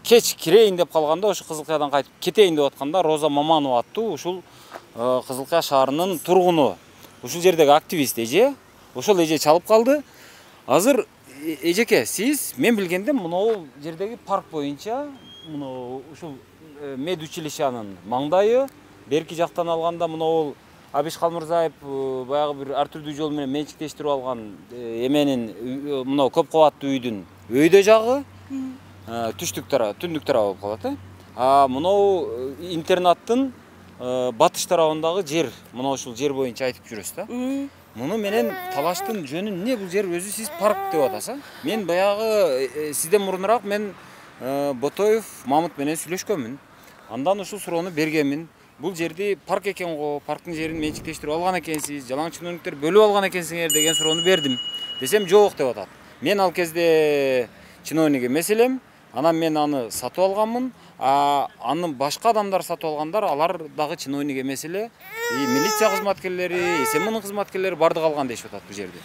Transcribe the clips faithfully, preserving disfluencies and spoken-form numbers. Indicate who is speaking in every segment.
Speaker 1: кеч кирейин деп калганда, ошо Кызылкаядан кайтып кетейин деп атканда Роза Маманова аттуу ушул Кызылкая шаарынын тургуну, ушул жердеги активист эже, ошол эже чалып калды. Азыр эжеке, сиз мен билгенде мынау жердеги парк боюнча, мынау ушул медучилищанын маңдайы, берки жактан алганда мынау Абиш Калмырзаев баягы бир ар түрдүү жол менен менчиктештирип алган эменин мынау көп кабаттуу үйдүн өйдө жагы, түштүк тарабы, түндүк тарабы болуп калат э. А мынау интернаттын батыш тарабындагы жер, мына ушул жер боюнча айтып жүрөсүз да. Муну менен талаштын жөнү эмне? Бул жер өзү сиз парк деп атасыз. Мен баягы сизден мурунураак мен Ботоев Мамыт менен сүйлөшкөнмүн. Андан ушул суроону бергенмин. Бул жерди парк экен го, парктын жерин менчиктештирип алган экенсиз, жалаң чиновниктер бөлүп алган экенсиңер деген суроону бердим. Десем жок деп атат. Мен ал кезде чиновник эмес элем, анан мен аны сатып алганмын. А аны башка адамдар сатып алгандар, алар дагы чиновник эмес эле. И милиция кызматкерлери, СМНын кызматкерлери бардык алган дешип атат бул жерди.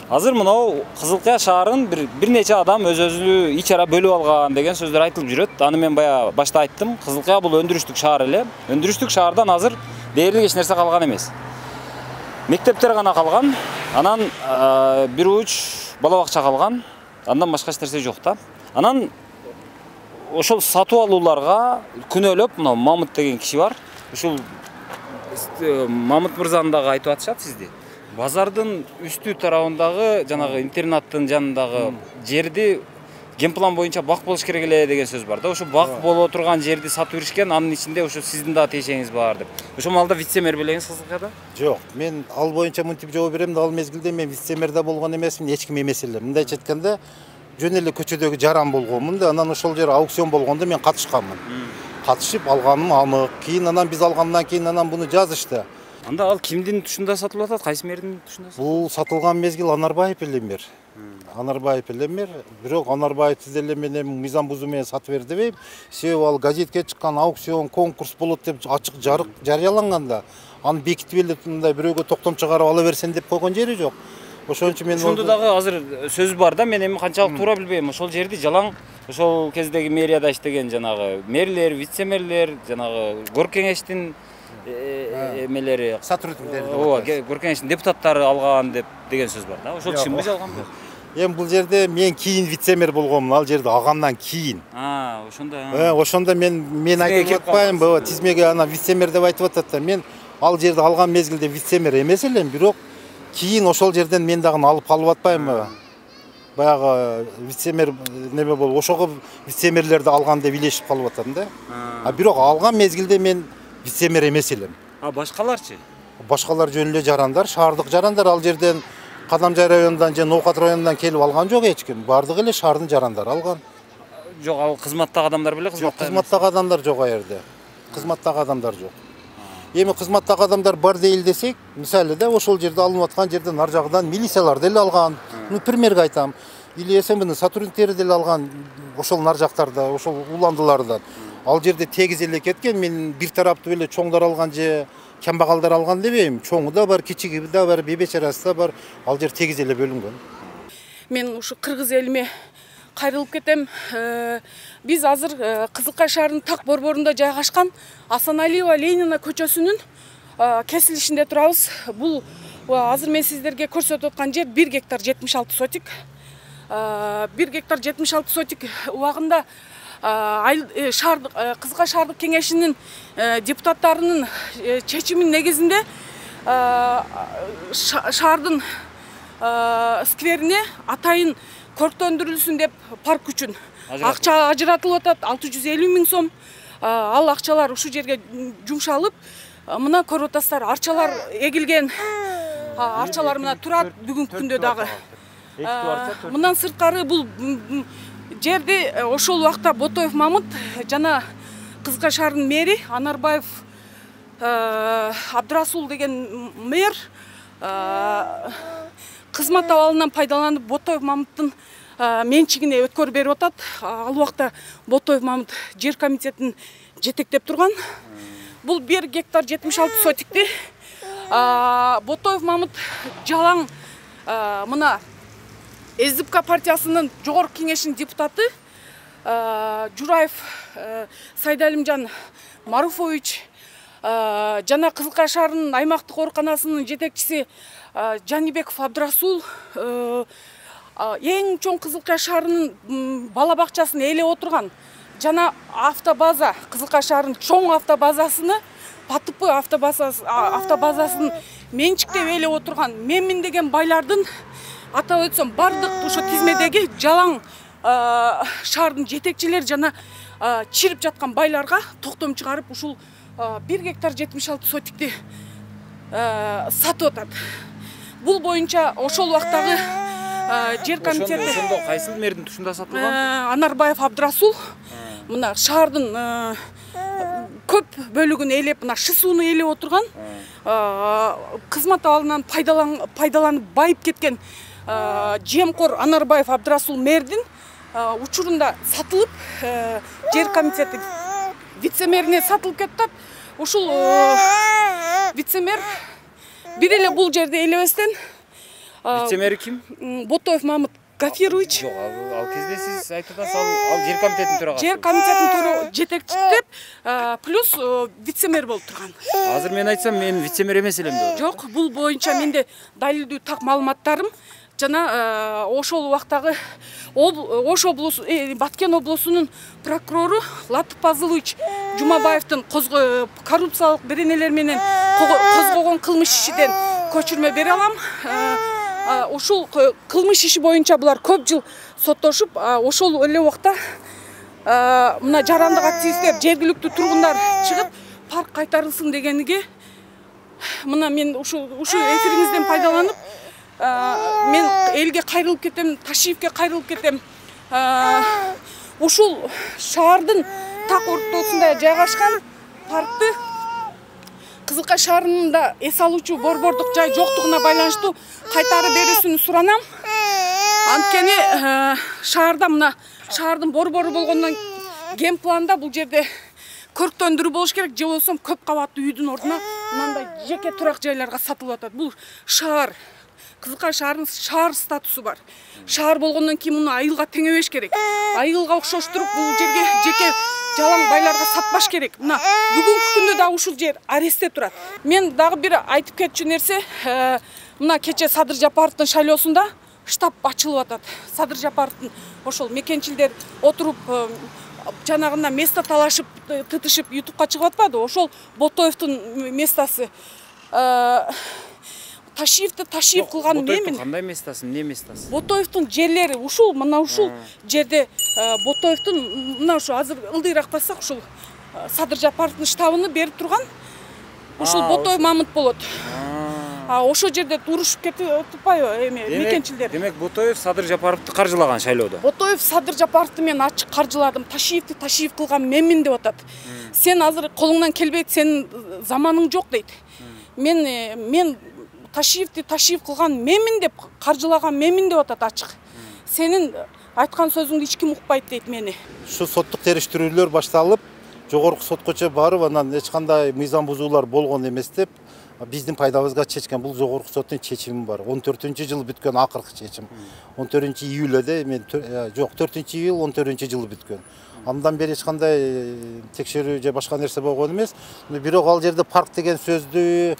Speaker 1: Азыр мынау Кызылкая шаарын бир бир нече адам өз-өзү ичара бөлүп алган деген сөздөр айтылып жүрөт. Аны мен бая башта айттым. Кызылкая бул өндүрүштүк шаар эле. Өндүрүштүк шаардан азыр дээрлик эч нерсе калган эмес. Мектептер гана калган, анан бир уч бала бакча калган. Андан башка эч нерсе жок да. Анан ошол сатып алууларга күнөөлөп, мына Мамыт деген киши бар. Ушул Мамыт мырзаны дагы айтып атышат сизди. Базардын үстү тарабындагы жанагы интернаттын жанындагы жерди генплан боюнча бак болуш керек эле деген сөз бар да. Ошо бак боло турган жерди сатып беришкен, анын ичинде ошо сиздин дагы тиешеңиз бар деп. Ошол маалда вице-мэр белеңиз Кызылкаяда?
Speaker 2: Жок, мен ал боюнча мынтип жооп берем да, ал мезгилде мен вице-мэрде болгон эмесмин, эч ким эмес элем. Мындайча айтканда, жөн эле көчөдөгү жаран болгонмун да, анан ошол жер аукцион болгондо мен катышканмын. Катышып алганым анык. Кийин анан биз алгандан кийин анан буну жазышты.
Speaker 1: Анда ал кимдин тушунда сатылып атат? Кайсы мэрдин тушунда?
Speaker 2: Бул сатылган мезгил Анарбаев эле мэр. Анарбаев эле мэр. Бирок Анарбаев деле менен мыйзам бузуу менен сатып бер дебейм. Себеби ал газетке чыккан аукцион, конкурс болот деп ачык жарык жарыяланганда, аны бекитип эле мындай бирөөгө токтом чыгарып ала берсен деп койгон жери жок. Ошон үчүн мен
Speaker 1: ошондо дагы азыр сөз бар да, мен эми канчалык туура билбейм. Ошол жерди жалаң ошол кездеги мэрияда иштеген жанагы мэрлер, вице-мэрлер, жанагы кор кеңештин эмелери,
Speaker 2: сотрудниктери,
Speaker 1: ооба, кор кеңештин депутаттары алган деп деген сөз бар да. Ошол чынбы жалганбы?
Speaker 2: Эми бул жерде мен кийин вице-мэр болгомун, ал жерде алгандан кийин.
Speaker 1: А, ошондо.
Speaker 2: Э, ошондо мен мен айтып атпаймынбы, тизмеге ана вице-мэр деп айтып атат да. Мен ал жерди алган мезгилде вице-мэр эмес элем, бирок кийин ошол жерден мен дагы алып калып атпаймынбы? Баягы вице-мэр неме болуп, ошого вице-мэрлерди алган деп илешип калып атам да. А бирок алган мезгилде мен вице-мэр эмес элем.
Speaker 1: А башкаларчы?
Speaker 2: Башкалар жөн эле жарандар, шаардык жарандар, ал жерден Кадамжай районунан же Ноокат районунан келип алган жок эч ким. Бардыгы эле шаардын жарандары алган.
Speaker 1: Жок, ал кызматтагы адамдар беле?
Speaker 2: Жок, кызматтагы адамдар жок а жерде. Кызматтагы адамдар жок. Эми кызматтагы адамдар бар дейли десек, мисалы да ошол жерде алынып аткан жерден ар жагынан милициялар деле алган. Ну, примерге айтам. Или СМНын сотрудниктери деле алган, ошол нар жактарда, ошол уландылардан. Ал жерде тегиз эле кеткен, мен бир тараптуу эле чоңдор алган же камбагалдар алган дебейм. Чоңу да бар, кичиги да бар, бебечарасы да бар. Ал жер тегиз эле бөлүнгөн.
Speaker 3: Мен ушу кыргыз элиме кайрылып кетем. Биз азыр Кызылкая шаарынын так борборунда жайгашкан Асаналиева Ленина көчөсүнүн кесилишинде турабыз. Бул азыр мен сиздерге көрсөтүп аткан жер бир гектар жетимиш алты сотик. бир гектар жетимиш алты сотик убагында шаардык Кызылкая шаардык кеңешинин депутаттарынын чечиминин негизинде шаардын скверине атайын көрктөндүрүлсүн деп парк үчүн акча ажыратылып атат, алты жүз элүү миң сом. Ал акчалар ушул жерге жумшалып, мына көрүп атасыздар, арчалар эгилген. Арчалар мына турат бүгүнкү күндө дагы. Мындан сырткары бул жерди ошол убакта Ботоев Мамыт жана Кызылкая шаарынын мэри Анарбаев Абдрасул деген мэр кызмат абалынан пайдаланып Ботоев Мамыттын менчигине өткөрүп берип атат. Ал убакта Ботоев Мамыт жер комитетин жетектеп турган. Бул бир гектар жетимиш алты сотикти Ботоев Мамыт жалаң мына СДПК партиясынын жогорку кеңешинин депутаты Жураев Сайдалимжан Маруфович жана Кызылкай шаарынын аймактык ооруканасынын жетекчиси Жанибеков Абдрасул эң чоң Кызылкай шаарынын бала бакчасын ээлеп отурган жана автобаза Кызылкай шаарынын чоң автобазасыны ПТП автобазасын менчиктеп ээлеп отурган менмин деген байлардын атап өтсөм бардык ошо тизмедеги жалаң шаардын жетекчилери жана чирип жаткан байларга токтом чыгарып ушул бир гектар жетимиш алты сотикти сатып атат. Бул боюнча ошол убактагы жер комитети
Speaker 1: ошондо кайсыл мэрдин тушунда сатылган?
Speaker 3: Анарбаев Абдрасул мына шаардын көп бөлүгүн ээлеп, мына шы сууну ээлеп отурган, кызмат абалынан пайдаланып байып кеткен жемкор Анарбаев Абдрасул мэрдин учурунда сатылып, жер комитети вице-мэрине сатылып кетти. Ушул вице-мэр бир эле бул жерди ээлебестен
Speaker 1: вице-мэр ким?
Speaker 3: Ботоев Мамыт Гафирович.
Speaker 1: Жок, ал кезде сиз айтып атасыз, ал жер комитетинин төрагасы.
Speaker 3: Жер комитетинин жетекчиси плюс вице-мэр болуп турган.
Speaker 1: Азыр мен айтсам, мен вице-мэр эмес элем деп.
Speaker 3: Жок, бул боюнча менде далилдүү так маалыматтарым жана ошол убактагы Ош облусу, Баткен облусунун прокурору Латып Пазылович Жумабаевдин коррупциялык беренелер менен козгогон кылмыш ишиден көчүрмө бере алам. Ошол кылмыш иши боюнча булар көп жыл соттошуп, ошол эле убакта мына жарандык активисттер, жергиликтүү тургундар чыгып парк кайтарылсын дегениге мына мен ушу эфириңизден пайдаланып мен элге кайрылып кетем, Ташиевке кайрылып кетем. Ушул шаардын так ортосунда жайгашкан паркты Кызылкай шаарында эс алуучу борбордук жай жоктугуна байланыштуу кайтарып берүүсүн суранам. Анткени шаарда мына шаардын борбору болгондон ген планда бул жерде көрктөндүрүү болуш керек, же болбосо көп кабаттуу үйдүн ордуна мындай жеке турак жайларга сатылып атат. Бул шаар Кызылкай шаарынын шаар статусу бар. Шаар болгондон кийин муну айылга теңебеш керек. Айылга окшоштуруп бул жерге жеке жалаң байларга сатпаш керек. Мына бүгүнкү күндө да ушул жер арестте турат. Мен дагы бир айтып кетчү нерсе, мына кече Садыр Жапаровдун шайлоосунда штаб ачылып атат. Садыр Жапаровдун ошол мекенчилдер отуруп жанагында место талашып, тытышып ютубка чыгып атпады. Ошол Ботоевдун местасы. Ташиевди Ташиев кылган менмин.
Speaker 1: Кандай местасы, эмне местасы?
Speaker 3: Ботоевдун жерлери ушул, мына ушул жерде Ботоевдун мына ушу азыр ылдыйраак бассак ушул Садыр Жапаровдун штабыны берип турган ушул Ботоев Мамыт болот. А ошол жерде урушуп кетип атпайбы эме мекенчилдер?
Speaker 1: Демек Ботоев Садыр Жапаровду каржылаган шайлоодо.
Speaker 3: Ботоев Садыр Жапаровду мен ачык каржыладым. Ташиевди Ташиев кылган менмин деп атат. Сен азыр колуңдан келбейт, сенин заманың жок дейт. Мен мен Ташиевди Ташиев кылган менмин деп, каржылаган менмин деп атат ачык. Сенин айткан сөзүңдү эч ким укпайт дейт мени.
Speaker 2: Ушу соттук териштирүүлөр башталып, жогорку соткочо барып, анан эч кандай мыйзам бузуулар болгон эмес деп, биздин пайдабызга чечкен. Бул жогорку соттун чечими бар. он төртүнчү жылы бүткөн акыркы чечим. он төртүнчү июльде мен жок, төртүнчү июль он төртүнчү жылы бүткөн. Андан бери эч кандай текшерүү же башка нерсе болгон эмес. Бирок ал жерде парк деген сөздү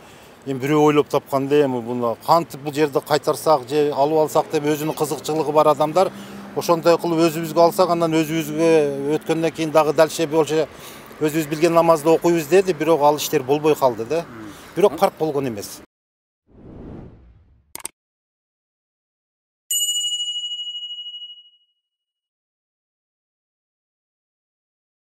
Speaker 2: эми бирөө ойлоп тапкан да, эми буну кантип бул жерди кайтарсак же алып алсак деп өзүнүн кызыкчылыгы бар адамдар ошондой кылып өзүбүзгө алсак, андан өзүбүзгө өткөндөн кийин дагы дальше болчу өзүбүз билген намазды окуйбуз деди, бирок ал иштер болбой калды да. Бирок парк болгон эмес.